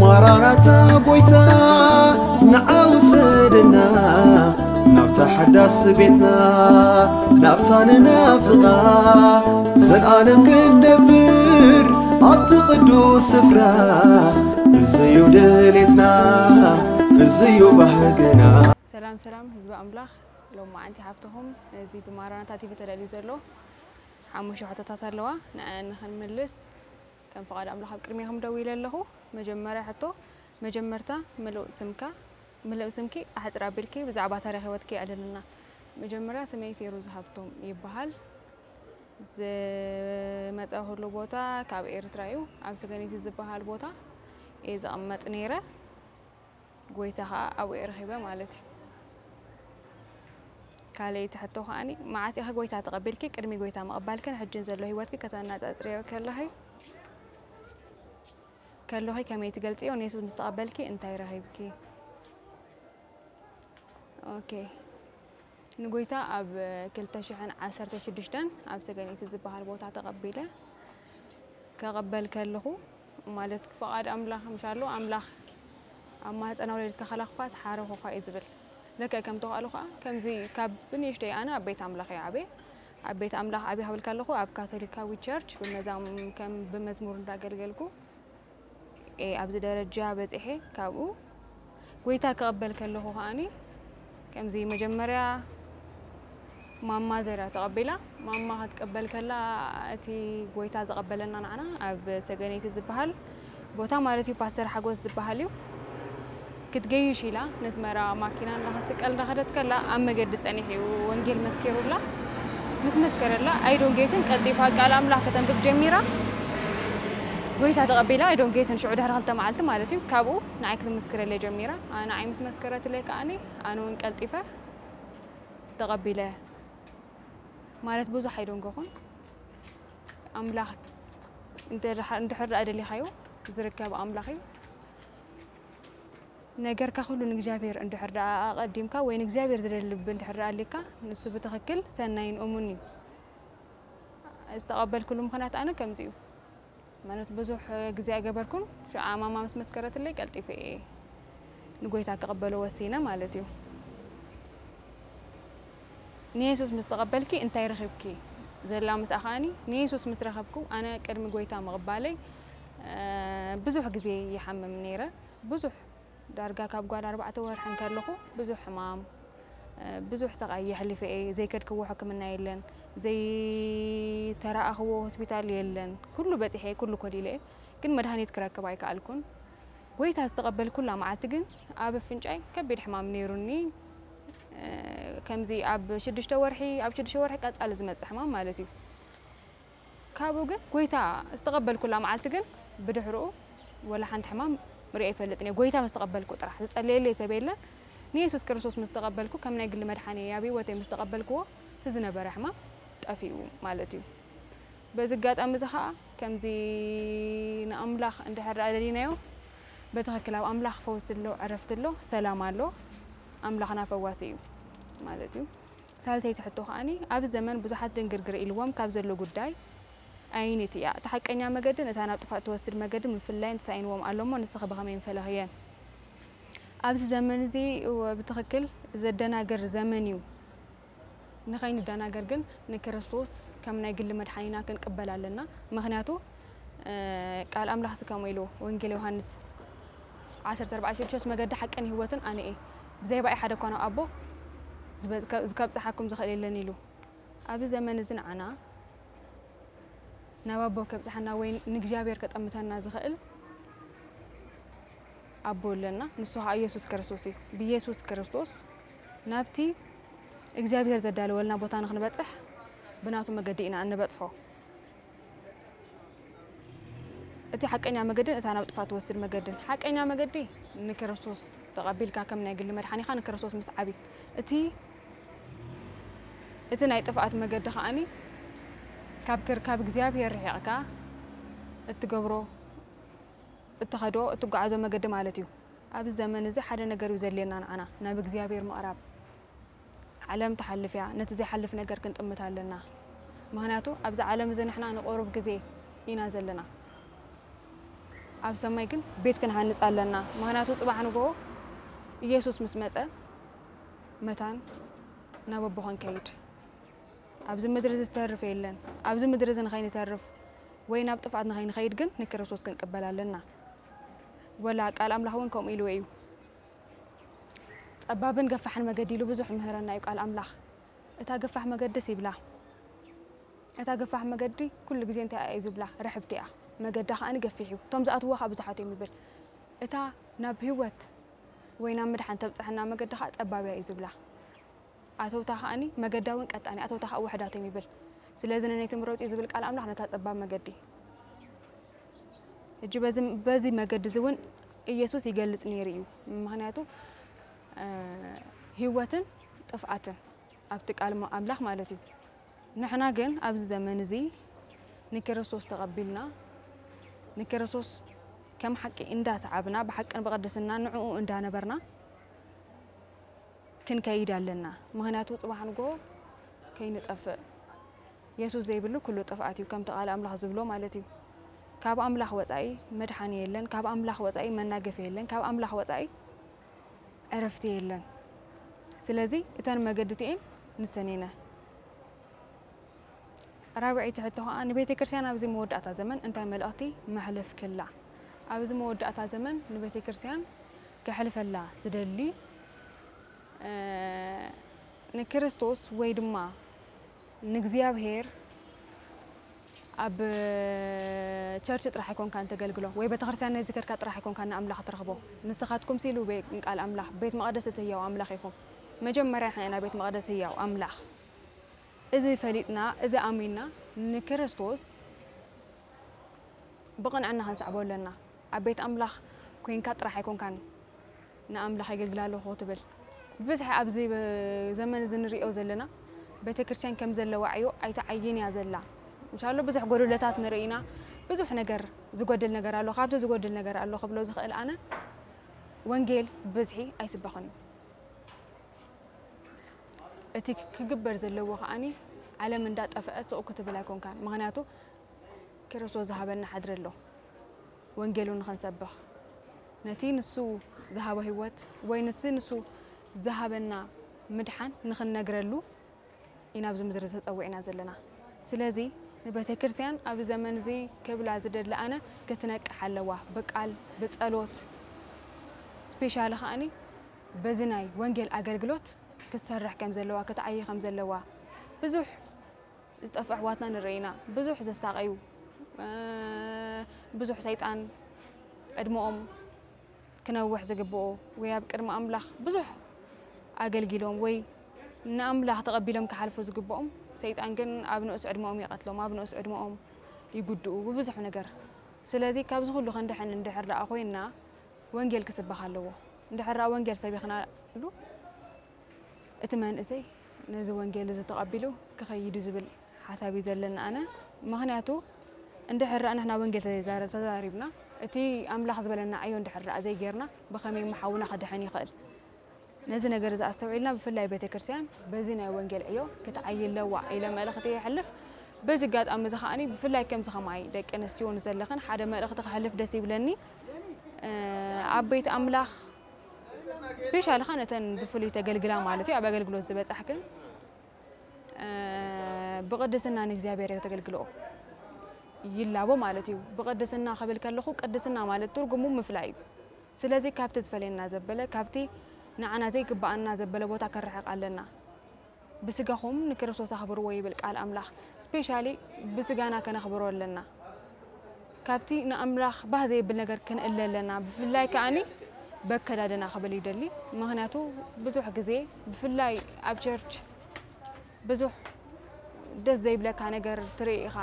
ማራናታ ጎይታ ንዓ ውሰደና ናብታ ሓዳስ ቤትና ናብታ ንናፍቓ ዘልኣለም ክንነብር ኣብቲ ቅዱስ ስፍራ እዝዩ ድሌትና እዝዩ ባህግና። ሰላም ሰላም ህዝቢ ኣምላኽ፣ ሎማዓንቲ ሓፍትኹም እዚ ብማራናታ ቲቪ ተዳልዩ ዘሎ ሓሙሽተ ሕቶታት ኣለዋ። ንዐን ንኽንምልስ ከም ፍቓድ ኣምላኽ ኣብ ቅድሜኹም ደው ኢለ ኣለኹ። መጀመርያ ሕቶ፣ መጀመርታ ምሉእ ስምካ፣ ምሉእ ስምኪ ኣሕጽር ኣቢልኪ ብዛዕባ ታሪኽ ህይወትኪ ኣዕልልና። መጀመርያ ስመይ ፌሩዝ ሃብቶም ይበሃል። ዝመጻእኩሉ ቦታ ካብ ኤርትራ እዩ። ኣብ ሰገነይቲ ዝበሃል ቦታ እየ ዝቕመጥ ነይረ። ጎይታ ኸዓ ኣብኡ እየ ረኺበ ማለት እዩ። ካልኣይቲ ሕቶ ኸዓኒ፣ መዓስ ኢኺ ጎይታ ተቐቢልኪ? ቅድሚ ጎይታ ምቕባልክን ሕጅን ዘሎ ህይወትኪ ከተነጻጽርዮ ከለኺ፣ ከለኺ ከመይ ትገልጽዮ? ንየሱስ ምስ ተቐበልኪ እንታይ ረኺብኪ? ኦኬ። ንጎይታ ኣብ ክልተ ሽሕን ዓሰርተ ሽዱሽተን ኣብ ሰገነይቲ ዝበሃል ቦታ ተቐቢለ። ከቐበል ከለኹ፣ ማለት ፍቓድ ኣምላኽ ምሻሉ፣ ኣምላኽ ኣብ ማህፀና ወለደትካ ከላኽኳስ ሓረኹኳ እዩ ዝብል። ልክዕ ከምቲ ቃሉ ኸዓ፣ ከምዚ ካብ ብንእሽተይ ኣነ ኣብ ቤት ኣምላኽ እየ ዓብየ። ኣብ ቤት ኣምላኽ ዓብየ ክብል ከለኹ፣ ኣብ ካቶሊካዊ ቸርች ብመዛም-፣ ከም ብመዝሙር እንዳገልገልኩ እየ ኣብዚ ደረጃ በፂሐ። ካብኡ ጎይታ ክቕበል ከለኹ ከዓኒ፣ ከምዚ መጀመርያ ማማ ዘርያ ተቐቢላ። ማማ ክትቅበል ከላ፣ እቲ ጎይታ ዝቐበለና ንዓና ኣብ ሰገነይቲ ዝበሃል ቦታ ማለት እዩ፣ ፓስተር ሓጎስ ዝበሃል እዩ። ክትገይሽ ኢላ ነስመራ ማኪና እንዳኸትቀል እንዳኸደት ከላ፣ ኣብ መገዲ ጸኒሑ እዩ ወንጌል መስኪሩላ። ምስ መስከረላ፣ ኣይዶንጌትን ቀልጢፋ ቃል ኣምላኽ ከተንብብ ጀሚራ። ጎይታ ተቐቢላ፣ ኣይዶንጌትን ሽዑ ድሕሪ ክልተ መዓልቲ ማለት እዩ፣ ካብኡ ንዓይ ክትምስክረለይ ጀሚራ። ኣነ ንዓይ ምስ መስከረትለይ ከዓኒ፣ ኣነ እውን ቀልጢፈ ተቐቢለ። ማለት ብዙሕ ኣይደንገኹን። ኣምላኽ እንተ-፣ እንድሕር ደኣ ደሊኻዮ ዝርከብ ኣምላኽ እዩ። ነገርካ ኩሉ ንእግዚኣብሔር እንድሕር ደኣ ኣቐዲምካ ወይ ንእግዚኣብሔር ዝደሊ ልቢ እንድሕር ደኣ ኣሊካ፣ ንሱ ብትኽክል ሰናይን እሙን እዩ። ዝተቐበልኩሉ ምኽንያት ኣነ ከምዚ እዩ። ማለት ብዙሕ ግዜ ኣይገበርኩን። ሽዓ ማማ ምስ መስከረትለይ ቀልጢፈ እየ ንጎይታ ክቕበሎ ወሲነ ማለት እዩ። ንየሱስ ምስ ተቐበልኪ እንታይ ረኺብኪ? ዘላ ምስኣ ከኣኒ፣ ንየሱስ ምስ ረኸብኩ፣ ኣነ ቅድሚ ጎይታ ምቕባለይ፣ እ፣ ብዙሕ ግዜ ይሓምም ነይረ። ብዙሕ፣ ዳርጋ ካብ ጓል ኣርባዕተ ወርሒ እንከለኹ ብዙሕ ሕማም፣ እ፣ ብዙሕ ስቓይ የሕሊፈ እየ። ዘይከድክዎ ሕክምና የለን፣ ዘይተራእኽዎ ሆስፒታል የለን። ኩሉ በጺሐ፣ ኩሉ ኮሊለ እየ፣ ግን መድሃኒት ክረክብ ኣይከኣልኩን። ጎይታ ዝተቐበልኩላ መዓልቲ ግን ኣብ ኣፍንጫይ ከቢድ ሕማም ነይሩኒ። እ፣ ከምዚ ኣብ ሽዱሽተ ወርሒ፣ ኣብ ሽዱሽተ ወርሒ ቀጻሊ ዝመጽእ ሕማም ማለት እዩ። ካብኡ ግን ጎይታ ዝተቐበልኩላ መዓልቲ ግን ብድሕርኡ ወላ ሓንቲ ሕማም ርእየ ኣይፈልጥን እየ። ጎይታ ምስ ተቐበልኩ ጥራሕ፣ ዝጸለየለይ ሰብ የለን። ንየሱስ ክርስቶስ ምስ ተቐበልኩ፣ ከም ናይ ግሊ መድሓኒየይ ኣብ ህይወተይ ምስ ተቐበልክዎ፣ እቲ ዝነበረ ሕማም ጠፊኡ ማለት እዩ። በዚ ኣጋጣሚ እዚ ኸኣ፣ ከምዚ ንኣምላኽ እንድሕር ደኣ ደሊናዮ፣ በትኽክል ኣብ ኣምላኽ ፈውሲ ኣሎ፣ ዕረፍቲ ኣሎ፣ ሰላም ኣሎ። ኣምላኽና ፈዋሲ እዩ ማለት እዩ። ሳልሰይቲ ሕቶ ከኣኒ፣ ኣብዚ ዘመን ብዙሓት ድንግርግር ኢልዎም ካብ ዘሎ ጉዳይ ኣየነይቲ እያ እታ ሓቀኛ መገድን እታ ናብ ጥፋእ ትወስድ መገድን ምፍላይን ተሳኢንዎም ኣሎ እሞ ንስኺ ብኸመይ ምፈለኽየን? ኣብዚ ዘመን እዚ እወ ብትኽክል ዘደናግር ዘመን እዩ። ንኸይንደናገር ግን ንክርስቶስ ከም ናይ ግሊ መድሓኒና ክንቅበል ኣለና። ምኽንያቱ፣ እ፣ ቃል ኣምላኽሲ ከምኡ ኢሉ፣ ወንጌል ዮሃንስ ዓሰርተ ኣርባዕተ ሽዱሽተ፣ "መገዲ ሓቅን ህይወትን ኣነ እየ፣ ብዘይ ብኣይ ሓደ እኳ ናብ ኣቦ ዝበ-፣ ከ-፣ ከብጽሓኩም ዝኽእል የለን" ኢሉ። ኣብዚ ዘመን እዚ ንዓና ናብ ኣቦ ከብጽሓና ወይ ንእግዚኣብሔር ከጠምተና ዝኽእል ኣቦ ኣለና፣ ንሱ ኸኣ ኢየሱስ ክርስቶስ እዩ። ብኢየሱስ ክርስቶስ ናብቲ እግዚኣብሔር ዘዳለወልና ቦታ ንኽንበጽሕ ብናቱ መገዲ ኢና እንበጽሖ። እቲ ሓቀኛ መገድን እታ ናብ ጥፋት ትወስድ መገድን። ሓቀኛ መገዲ ንክርስቶስ ተቐቢልካ ከም ናይ ግሊ መድሓኒኻ ንክርስቶስ ምስዓብ እዩ። እቲ፣ እቲ ናይ ጥፍኣት መገዲ ከኣኒ ካብ ክር-፣ ካብ እግዚኣብሔር ርሒቕካ እትገብሮ፣ እትኸዶ፣ እትጓዓዞ መገዲ ማለት እዩ። ኣብዚ ዘመን እዚ ሓደ ነገር እዩ ዘድልየና ንዓና፣ ናብ እግዚኣብሔር ምቕራብ። ዓለም ትሓልፍ እያ፣ ነቲ ዘይሓልፍ ነገር ክንጥምት ኣለና። ምኽንያቱ ኣብዚ ዓለም እዚ ንሕና ንቑሩብ ግዜ ኢና ዘለና። ኣብ ሰማይ ግን ቤት ክንሃንጽ ኣለና። ምኽንያቱ ጽባሕ ንግሆ ኢየሱስ ምስ መጸ፣ መታን ናብ ኣቦ ክንከይድ፣ ኣብዚ ምድሪ እዚ ዝተርፍ የለን። ኣብዚ ምድሪ እዚ ንኸይንተርፍ ወይ ናብ ጥፍኣት ንኸይንኸይድ ግን ንክርስቶስ ክንቅበል ኣለና። ወላ ቃል ኣምላኽ እውን ከምኡ ኢልዎ እዩ። ጸባብን ገፋሕን መገዲ ኢሉ ብዙሕ ይምህረና እዩ ቃል ኣምላኽ። እታ ገፋሕ መገድስ ይብላ፣ እታ ገፋሕ መገዲ ኩሉ ግዜ እንታይ እያ እዩ ዝብላ? ርሕብቲ እያ። መገዳ ከኣ ገፊሕ እዩ። እቶም ዝኣትውዋ ከኣ ብዙሓት እዮም ይብል። እታ ናብ ህይወት ወይ ናብ ምድሓን ተብጽሐና መገዲ ከኣ ጸባብ እያ እዩ ዝብላ። ኣተውታ ከኣ መገዳ እውን ቀጣን እያ፣ ኣተውታ ከኣ ውሕዳት እዮም ይብል። ስለዚ ነነይቲ ምረጹ ዝብል ቃል ኣምላኽ ነታ ጸባብ መገዲ። ሕጂ በዚ በዚ መገዲ እዚ እውን ኢየሱስ ይገልጽ ነይሩ እዩ። ምኽንያቱ እ፣ ህይወትን ጥፍኣትን ኣብቲ ቃል ማ- ኣምላኽ ማለት እዩ። ንሕና ግን ኣብዚ ዘመን እዚ ንክርስቶስ ተቐቢልና፣ ንክርስቶስ ከም ሓቂ እንዳሰዓብና፣ ብሓቅን ብቕድስና ንዕኡ እንዳነበርና ክንከይድ ኣለና። ምኽንያቱ ጽባሕ ንግሆ ከይንጠፍእ፣ የሱስ ዘይብሉ ኩሉ ጥፍኣት እዩ፣ ከምቲ ቃል ኣምላኽ ዝብሎ ማለት እዩ። ካብ ኣምላኽ ወጻኢ መድሓኒ የለን፣ ካብ ኣምላኽ ወጻኢ መናገፊ የለን፣ ካብ ኣምላኽ ወጻኢ ዕረፍቲ የለን። ስለዚ እተን መገዲ እቲኤን ንሰን እየን። ራብዐይቲ ሕቶ ኸኣ ንቤተ ክርስቲያን ኣብዚ መወዳእታ ዘመን እንታይ መልእኽቲ መሕለፍ ክላ? ኣብዚ መወዳእታ ዘመን ንቤተ ክርስቲያን ከሕልፈላ ዝደሊ እ፣ ንክርስቶስ ወይ ድማ ንእግዚኣብሔር ኣብ ቸርች ጥራሕ ኣይኮንካን ተገልግሎ ወይ ቤተክርስትያን ናይ ዝከድካ ጥራሕ ኣይኮንካን ንኣምላኽ ትረኽቦ። ንስኻትኩም ሲሉ ቤ- ቃል ኣምላኽ ቤት መቕደስ እቲ ህያው ኣምላኽ ኢኹም። መጀመርያ ንሕና ኢና ቤት መቕደስ ህያው ኣምላኽ። እዚ ፈሊጥና እዚ ኣሚንና ንክርስቶስ ብቕንዕና ክንስዕቦ ኣለና። ኣብ ቤት ኣምላኽ ኮይንካ ጥራሕ ኣይኮንካን ንኣምላኽ የገልግል ኣለኹ ክትብል። ብብዝሒ ኣብዚ ዘመን እዚ ንሪኦ ዘለና ቤተ ክርስቲያን ከም ዘለዋ ዕዮ ኣይትዓይን እያ ዘላ። እንሻሎ ብዙሕ ጎደሎታት ንርኢ ኢና። ብዙሕ ነገር ዝጎድል ነገር ኣሎ። ካብቲ ዝጎድል ነገር ኣሎ ክብሎ ዝኽእል ኣነ ወንጌል ብብዝሒ ኣይስበኽን እዩ። እቲ ክግበር ዘለዎ ከኣኒ ዓለም እንዳጠፍአት ስቕ ክትብል ኣይኮንካን። ምኽንያቱ ክርስቶስ ዝሃበና ሓድሪ ኣሎ ወንጌሉ ንኽንሰብኽ ነቲ ንሱ ዝሃቦ ህይወት ወይ ንሱ ንሱ ዝሃበና ምድሓን ንኽንነግረሉ ኢና ኣብዚ ምድሪ ተጸዊዕና ዘለና። ስለዚ ንቤተ ክርስቲያን ኣብዚ ዘመን እዚ ክብላ ዝደሊ ኣነ ክትነቅሕ ኣለዋ። ብቃል ብጸሎት ስፔሻሊ ከኣኒ በዚ ናይ ወንጌል ኣገልግሎት ክትሰርሕ ከም ዘለዋ ክትዓይ ከም ዘለዋ ብዙሕ ዝጠፍእ ኣሕዋትና ንርኢ ኢና። ብዙሕ ዘሳቐዩ ብዙሕ ሰይጣን ዕድመኦም ክነውሕ ዝግብኦ ወይ ኣብ ቅድሚ ኣምላኽ ብዙሕ ኣገልጊሎም ወይ ንኣምላኽ ተቐቢሎም ክሓልፉ ዝግብኦም ሰይጣን ግን ኣብ ንኡስ ዕድመኦም ይቐትሎም፣ ኣብ ንኡስ ዕድመኦም ይጉድኡ ብብዙሕ ነገር። ስለዚ ካብዚ ኩሉ ክንድሕን እንድሕር ደኣ ኮይንና ወንጌል ክስበኽ ኣለዎ። እንድሕር ደኣ ወንጌል ሰቢኽናሉ እቲ መንእሰይ ነዚ ወንጌል እዚ ተቐቢሉ ክኸይድ እዩ ዝብል ሓሳብ እዩ ዘለኒ ኣነ። ምኽንያቱ እንድሕር ደኣ ንሕና ወንጌል ተዘይዛረ- ተዛሪብና እቲ ኣምላኽ ዝበለና ዕዮ እንድሕር ደኣ ዘይጌርና ብኸመይ እሞ ሓውና ክድሕን ይኽእል? ነዚ ነገር እዚ ኣስተውዒልና ብፍላይ ቤተ ክርስቲያን በዚ ናይ ወንጌል ዕዮ ክትዓይ ኣለዋ ኢለ መልእኽቲ የሕልፍ። በዚ ኣጋጣሚ እዚ ከኣኒ ብፍላይ ከምዚ ከማይ ደቂ ኣንስትዮ ንዘለኽን ሓደ መልእኽቲ ክሕልፍ ደስ ይብለኒ። ኣብ ቤት ኣምላኽ ስፔሻሊ ኸ ነተን ብፍሉይ ተገልግላ ማለት እዩ ኣብ ኣገልግሎት ዝበጻሕክን ብቕድስና ንእግዚኣብሔር ከተገልግልኦ ይላቦ ማለት እዩ። ብቕድስና ክብል ከለኹ ቅድስና ማለት ትርጉሙ ምፍላይ እዩ። ስለዚ ካብቲ ዝፈልየና ዘበለ ካብቲ ንዓና ዘይግብኣና ዘበለ ቦታ ከርሕቕ ኣለና። ብስጋኹም ንክርስቶስ ኣኽብርዎ ይብል ቃል ኣምላኽ። ስፔሻሊ ብስጋና ከነኽብሮ ኣለና። ካብቲ ንኣምላኽ ባህ ዘይብል ነገር ክንእለ ኣለና። ብፍላይ ከኣኒ በከዳድና ክብል ይደሊ። ምኽንያቱ ብዙሕ ግዜ ብፍላይ ኣብ ቸርች ብዙሕ ደስ ዘይብለካ ነገር ትርኢ ኢኻ።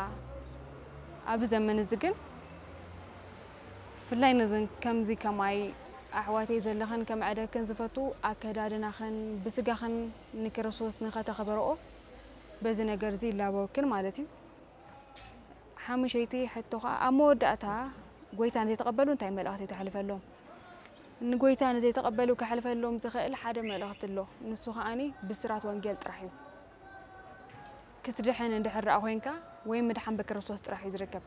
ኣብዚ ዘመን እዚ ግን ብፍላይ ነዘን ከምዚ ከማይ ኣሕዋተይ ዘለኽን ከመዕደክን ዝፈቱ ኣከዳድናኽን ብስጋኽን ንክርስቶስ ንኸተኽብርኦ በዚ ነገር እዚ ይላበወክን ማለት እዩ። ሓሙሸይቲ ሕቶ ኸዓ ኣብ መወዳእታ ጎይታ ንዘይተቐበሉ እንታይ መልእኽቲ ተሕልፈሎም? ንጎይታ ንዘይተቐበሉ ከሕልፈሎም ዝኽእል ሓደ መልእኽቲ ኣሎ። ንሱ ኸኣኒ ብስራት ወንጌል ጥራሕ እዩ። ክትድሕን እንድሕር ደኣ ኮይንካ ወይ ምድሓን ብክርስቶስ ጥራሕ እዩ ዝርከብ።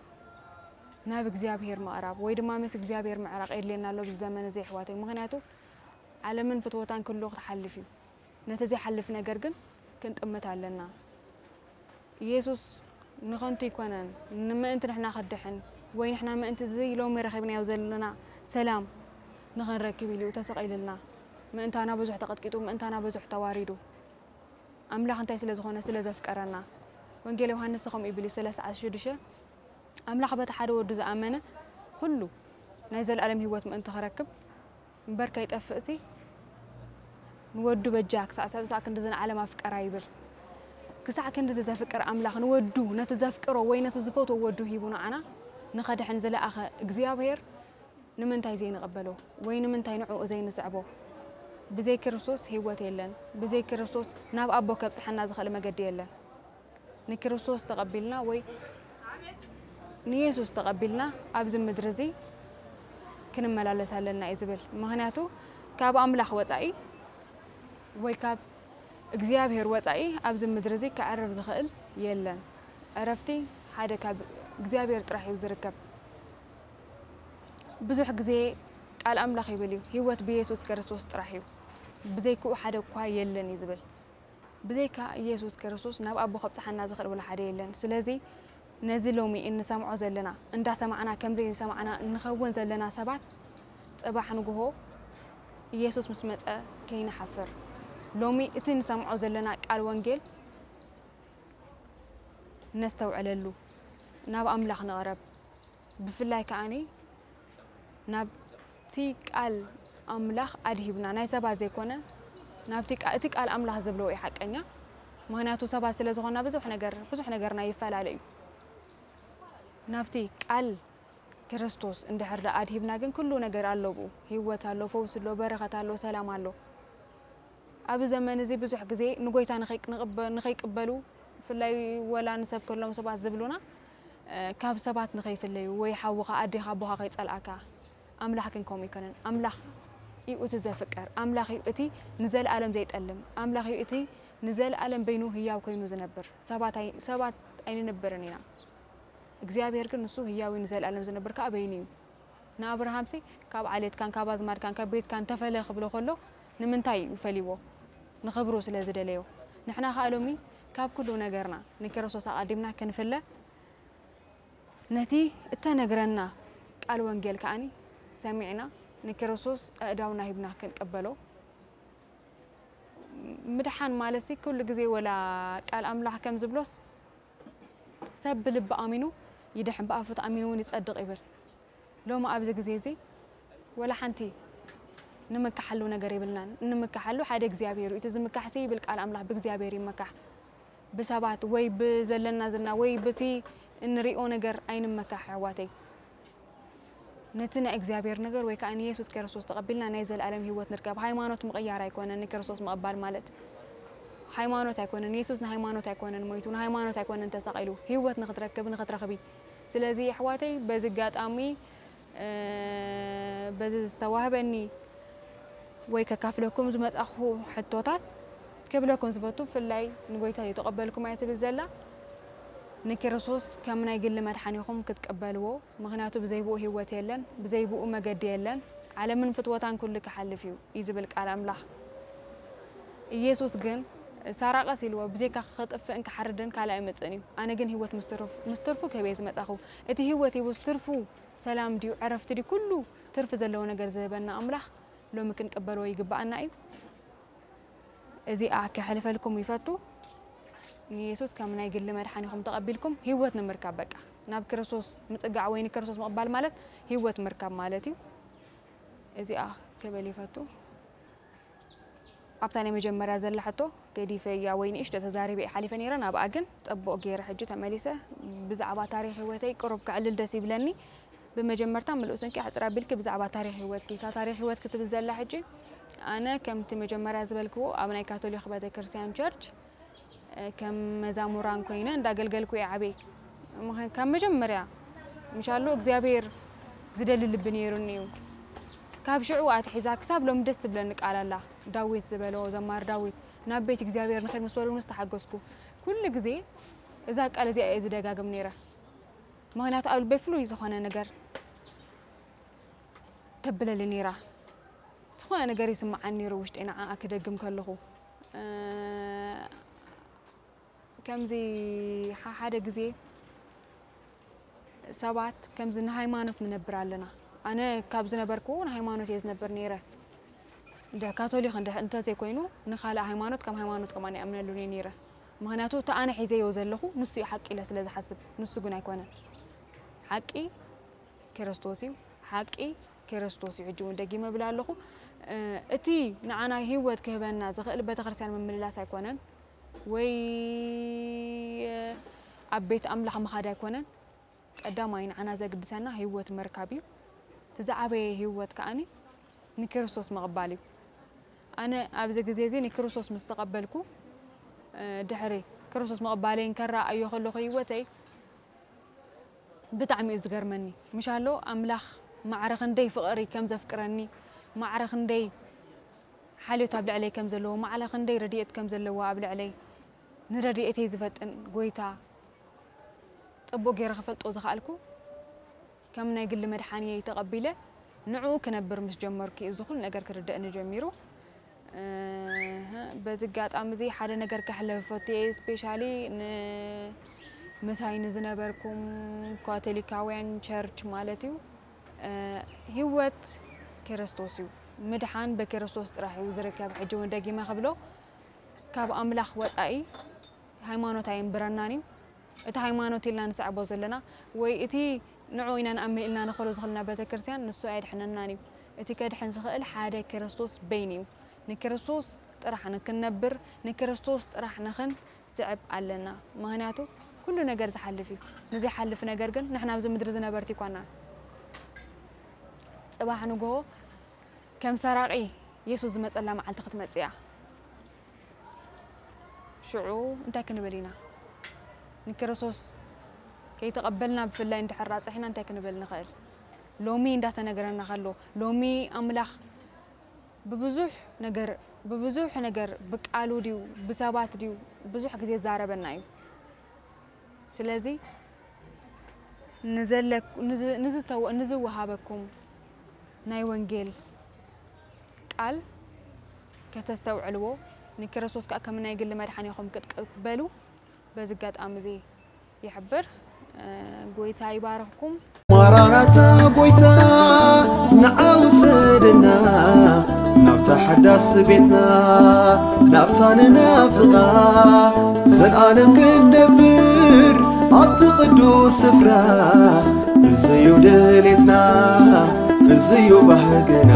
ናብ እግዚኣብሔር ምቕራብ ወይ ድማ ምስ እግዚኣብሔር ምዕራቕ የድልየና ኣሎ ኣብዚ ዘመን እዚ ኣሕዋተይ። ምኽንያቱ ዓለምን ፍትወታን ክሉ ክትሓልፍ እዩ። ነቲ ዘይሓልፍ ነገር ግን ክንጥምት ኣለና። ኢየሱስ ንኸንቱ ኣይኮነን፣ ንምእንቲ ንሕና ከድሕን ወይ ንሕና ምእንቲ እዚ ሎሚ ረኺብናዮ ዘለና ሰላም ንኸንረክብ ኢሉ ተሰቒልልና። ምእንታና ብዙሕ ተቐጥቂጡ፣ ምእንታና ብዙሕ ተዋሪዱ። ኣምላኽ እንታይ ስለ ዝኾነ? ስለ ዘፍቀረና። ወንጌል ዮሃንስ ከምኡ ይብል እዩ፣ ሰላሳ ሽዱሽተ ኣምላኽ በቲ ሓደ ወዱ ዝኣመነ ኩሉ ናይ ዘለኣለም ህይወት ምእንቲ ክረክብ እምበር ከይጠፍእሲ ንወዱ በጃ ክሳዕ ሰብ ሳዕ ክንድዚ ንዓለም ኣፍቀራ ይብል። ክሳዕ ክንድዚ ዘፍቅር ኣምላኽ ንወዱ ነቲ ዘፍቅሮ ወይ ነቲ ዝፈትዎ ወዱ ሂቡ ንዓና ንኸድሕን ዝለኣኸ እግዚኣብሔር ንምንታይ ዘይንቕበሎ ወይ ንምንታይ ንዕኡ ዘይንስዕቦ? ብዘይ ክርስቶስ ህይወት የለን። ብዘይ ክርስቶስ ናብ ኣቦ ከብጽሓና ዝኽእል መገዲ የለን። ንክርስቶስ ተቐቢልና ወይ ንየሱስ ተቐቢልና ኣብዚ ምድሪ እዚ ክንመላለስ ኣለና እዩ ዝብል። ምኽንያቱ ካብ ኣምላኽ ወጻኢ ወይ ካብ እግዚኣብሔር ወጻኢ ኣብዚ ምድሪ እዚ ከዕርፍ ዝኽእል የለን። ዕረፍቲ ሓደ ካብ እግዚኣብሔር ጥራሕ እዩ ዝርከብ። ብዙሕ ግዜ ቃል ኣምላኽ ይብል እዩ፣ ህይወት ብየሱስ ክርስቶስ ጥራሕ እዩ፣ ብዘይክኡ ሓደ እኳ የለን እዩ ዝብል። ብዘይካ ኢየሱስ ክርስቶስ ናብ ኣቦ ከብጽሓና ዝኽእል ወላ ሓደ የለን። ስለዚ ነዚ ሎሚ እንሰምዖ ዘለና፣ እንዳሰማዕና ከም ዘይሰማዕና እንኸውን ዘለና ሰባት፣ ጽባሕ ንግሆ ኢየሱስ ምስ መጸ ከይንሓፍር፣ ሎሚ እቲ ንሰምዖ ዘለና ቃል ወንጌል ነስተውዕለሉ፣ ናብ ኣምላኽ ንቕረብ። ብፍላይ ከኣኒ ናብቲ ቃል ኣምላኽ ኣድሂብና፣ ናይ ሰባት ዘይኮነ፣ ናብቲ ቃ-፣ እቲ ቃል ኣምላኽ ዝብሎ እዩ ሓቀኛ። ምኽንያቱ ሰባት ስለ ዝኾንና ብዙሕ ነገር፣ ብዙሕ ነገርና ይፈላለ እዩ። ናብቲ ቃል ክርስቶስ እንድሕር ደኣ ኣድሂብና ግን ኩሉ ነገር ኣሎ ብኡ። ህይወት ኣሎ፣ ፈውሲ ኣሎ፣ በረኸት ኣሎ፣ ሰላም ኣሎ። ኣብዚ ዘመን እዚ ብዙሕ ግዜ ንጎይታ ንኸይ-፣ ንቕበ-፣ ንኸይቅበሉ፣ ብፍላይ ወላ ንሰብከሎም ሰባት ዝብሉና፣ እ፣ ካብ ሰባት ንኸይፍለዩ ወይ ሓውኻ፣ ኣዴኻ፣ ኣቦኻ ከይጸልኣካ። ኣምላኽ ግን ከምኡ ኣይኮነን። ኣምላኽ እዩ እቲ ዘፍቅር። ኣምላኽ እዩ እቲ ንዘለኣለም ዘይጠልም። ኣምላኽ እዩ እቲ ንዘለኣለም በይኑ ህያው ኮይኑ ዝነብር። ሰባት ኣይ-፣ ሰባት ኣይንነብርን ኢና። እግዚኣብሔር ግን ንሱ ህያው እዩ፣ ንዘለኣለም ዝነብር ከኣ በይኑ እዩ። ንኣብርሃምሲ ካብ ዓሌትካን ካብ ኣዝማድካን ካብ ቤትካን ተፈለ ክብሎ ከሎ ንምንታይ እዩ ፈልይዎ? ንኽብሩ ስለ ዝደለዮ። ንሕና ከኣ ሎሚ ካብ ኩሉ ነገርና ንክርስቶስ ኣቐዲምና ክንፍለ፣ ነቲ እተነግረና ቃል ወንጌል ከኣኒ ሰሚዕና ንክርስቶስ ኣእዳውና ሂብና ክንቀበሎ። ምድሓን ማለትሲ ኩሉ ግዜ ወላ ቃል ኣምላኽ ከም ዝብሎስ ሰብ ብልቢ ኣሚኑ ይድሕን፣ ብኣፉ ተኣሚኑ እውን ይጸድቕ ይብል። ሎሚ ኣብዚ ግዜ እዚ ወላ ሓንቲ ንምካሓሉ ነገር የብልናን። እንምካሓሉ ሓደ እግዚኣብሔር እዩ። እቲ ዝምካሕሲ ይብል ቃል ኣምላኽ ብእግዚኣብሔር ይመካሕ። ብሰባት ወይ ብዘለና ዝና ወይ ብቲ እንሪኦ ነገር ኣይንመካሕ ኣሕዋተይ። ነቲ ናይ እግዚኣብሔር ነገር ወይ ከኣ ንየሱስ ክርስቶስ ተቐቢልና ናይ ዘለኣለም ህይወት ንርከብ። ሃይማኖት ምቕያር ኣይኮነን ንክርስቶስ ምቕባል ማለት። ሃይማኖት ኣይኮነን፣ የሱስ ንሃይማኖት ኣይኮነን ሞይቱ፣ ንሃይማኖት ኣይኮነን ተሰቒሉ፣ ህይወት ንኽትረክብ፣ ንኽትረኽቢ። ስለዚ ኣሕዋተይ በዚ ኣጋጣሚ፣ እ፣ በዚ ዝተዋህበኒ ወይ ከካፍለኩም ዝመጻኹ ሕቶታት ክብለኩም ዝፈቱ፣ ብፍላይ ንጎይታ ዘይተቐበልኩም እያ ትብል ዘላ፣ ንክርስቶስ ከም ናይ ግሊ መድሓኒኹም ክትቀበልዎ፣ ምኽንያቱ ብዘይ ብኡ ህይወት የለን፣ ብዘይ ብኡ መገዲ የለን፣ ዓለምን ፍትወታን ኩሉ ክሓልፍ እዩ፣ እዩ ዝብል ቃል ኣምላኽ። ኢየሱስ ግን ሳራቐስ ኢልዎ፣ ብዘይካ ክጥፍእን ክሓርድን ካልእ ኣይመጽእን እዩ። ኣነ ግን ህይወት ምስ ትርፍ-፣ ምስ ትርፉ ክህብ እየ ዝመጻኹ። እቲ ህይወት ሂቡስ ትርፉ ሰላም ድዩ፣ ዕረፍቲ ድዩ፣ ኩሉ ትርፊ ዘለዎ ነገር ዝህበና ኣምላኽ ሎሚ ክንቅበሎ ይግብኣና እዩ። እዚኣ ከሕልፈልኩም ይፈቱ። ንየሱስ ከም ናይ ግሊ መድሓኒኹም ተቐቢልኩም ህይወት ንምርካብ፣ በቃ ናብ ክርስቶስ ምጽጋዕ ወይ ንክርስቶስ ምቕባል ማለት ህይወት ምርካብ ማለት እዩ። እዚኣ ክብል ይፈቱ። ኣብታ ናይ መጀመርያ ዘላ ሕቶ ገዲፈያ ወይ ንእሽቶ ተዛሪበ እየ ሓሊፈ ነይረ። ናብኣ ግን ጽቡቕ ገይረ ሕጂ ተመሊሰ ብዛዕባ ታሪኽ ህይወተይ ቅሩብ ከዕልል ደስ ይብለኒ። ብመጀመርታ ምሉእ ስንኪ ኣሕጽር ኣቢልኪ ብዛዕባ ታሪኽ ህይወትኪ፣ እታ ታሪኽ ህይወት ክትብል ዘላ ሕጂ፣ ኣነ ከምቲ መጀመርያ ዝበልክዎ ኣብ ናይ ካቶሊክ ቤተክርስትያን ቸርች፣ እ፣ ከም መዛሙራን ኮይነ እንዳገልገልኩ እየ ዓብየ። ምኸ-፣ ካብ መጀመርያ ምሻሎ እግዚኣብሔር ዝደሊ ልቢ ነይሩኒ እዩ። ካብ ሽዑ ኣትሒዛ ክሳብ ሎሚ ደስ ትብለኒ ቃል ኣላ። ዳዊት ዝበሎ፣ ዘማሪ ዳዊት፣ "ናብ ቤት እግዚኣብሔር ንኸይድ ምስ በሉኒ ዝተሓገዝኩ." ኩሉ ግዜ እዛ ቃል እዚኣ እየ ዝደጋግም ነይረ። ምኽንያቱ ኣብ ልበይ ፍሉይ ዝኾነ ነገር ተብለሊ ነይራ። ዝኾነ ነገር ይስምዓኒ ነይሩ ውሽጠይ ንዓኣ ክደግም ከለኹ። እ፣ ከምዚ ሓ-፣ ሓደ ግዜ ሰባት ከምዚ ንሃይማኖት ንነብር ኣለና። ኣነ ካብ ዝነበርኩ ንሃይማኖት እየ ዝነብር ነይረ። እንደ ካቶሊክ እንደ-፣ እንተዘይኮይኑ ንኻልእ ሃይማኖት ከም ሃይማኖት ከማን ይኣምነሉን እየ ነይረ። ምኽንያቱ እቲ ኣነ ሒዘዮ ዘለኹ ንሱ እዩ ሓቂ ኢለ ስለ ዝሓስብ፣ ንሱ ግን ኣይኮነን። ሓቂ ክርስቶስ እዩ። ሓቂ ክርስቶስ እዩ። ሕጂ እውን ደጊመ እብል ኣለኹ። እ፣ እቲ ንዓና ህይወት ክህበና ዝኽእል ቤተክርስትያን ምምልላስ ኣይኮነን፣ ወይ ኣብ ቤት ኣምላኽ ምኻድ ኣይኮነን። ቀዳማይ ንዓና ዘግድሰና ህይወት ምርካብ እዩ። እቲ ዝዓበየ ህይወት ከኣኒ ንክርስቶስ ምቕባል እዩ። ኣነ ኣብዚ ግዜ እዚ ንክርስቶስ ምስ ተቐበልኩ፣ እ፣ ድሕሪ ክርስቶስ ምቕባለይ እንከረኣዮ ከለኹ ህይወተይ ብጣዕሚ እዩ ዝገርመኒ። ምሻሎ ኣምላኽ ማዕረ ክንደይ ፍቕሪ ከም ዘፍቅረኒ፣ ማዕረ ክንደይ ሓልዮት ኣብ ልዕለይ ከም ዘለዎ፣ ማዕረ ክንደይ ረድኤት ከም ዘለዎ ኣብ ልዕለይ፣ ንረድኤተይ ዝፈጥን ጎይታ ጽቡቕ ገይረ ክፈልጦ ዝኸኣልኩ፣ ከም ናይ ግሊ መድሓኒየይ ተቐቢለ ንዕኡ ክነብር ምስ ጀመርኩ እዩ እዚ ኩሉ ነገር ክርደእኒ ጀሚሩ። እህ፣ በዚ ኣጋጣሚ እዚ ሓደ ነገር ከሕልፍ ፈትየ፣ ስፔሻሊ ን-፣ ምሳይ ንዝነበርኩም ካቶሊካውያን ቸርች ማለት እዩ። እ፣ ህይወት ክርስቶስ እዩ። ምድሓን በክርስቶስ ጥራሕ እዩ ዝርከብ። ሕጂ እውን ደጊመ ክብሎ፣ ካብ ኣምላኽ ወጻኢ ሃይማኖት ኣየንብረናን እዩ። እቲ ሃይማኖት ኢልና ንስዕቦ ዘለና ወይ እቲ ንዑ ኢና ንኣምን ኢልና ንኸሎ ዝኽልና ቤተክርስትያን ንሱ ኣየድሕነናን እዩ። እቲ ከድሕን ዝኽእል ሓደ ክርስቶስ በይኑ እዩ። ንክርስቶስ ጥራሕ ንክንነብር፣ ንክርስቶስ ጥራሕ ንኽንስዕብ ኣለና። ምኽንያቱ ኩሉ ነገር ዝሓልፍ እዩ። ንዘይሓልፍ ነገር ግን ንሕና ኣብዚ ምድሪ ዝነበርቲ ኣይኮናን። ጽባሕ ንግሆ ከም ሰራቒ የሱስ ዝመጸላ መዓልቲ ክትመጽእ እያ። ሽዑ እንታይ ክንብል ኢና? ንክርስቶስ ከይተቐበልና ብፍላይ እንድሕር ኣጽሒና እንታይ ክንብል ንኽእል? ሎሚ እንዳተነገረና ከሎ፣ ሎሚ ኣምላኽ ብብዙሕ ነገር፣ ብብዙሕ ነገር፣ ብቃሉ ድዩ፣ ብሰባት ድዩ፣ ብዙሕ ግዜ ይዛረበና እዩ። ስለዚ ንዘለኩ-፣ ንዝ-፣ ንዝተወ-፣ ንዝወሃበኩም ናይ ወንጌል ቃል ከተስተውዕልዎ፣ ንክርስቶስ ከኣ ከም ናይ ግሊ መድሓኒኹም ክትቅበሉ በዚ ኣጋጣሚ እዚ ይሕብር። እ፣ ጎይታ ይባርኽኩም። ማራናታ ጎይታ ንዓ ውሰደና ናብታ ሓዳስ ቤትና ናብታ ንናፍቓ ዘልኣለም ክንነብር ኣብቲ ቅዱስ ስፍራ። እዝዩ ድሌትና እዝዩ ባህግና።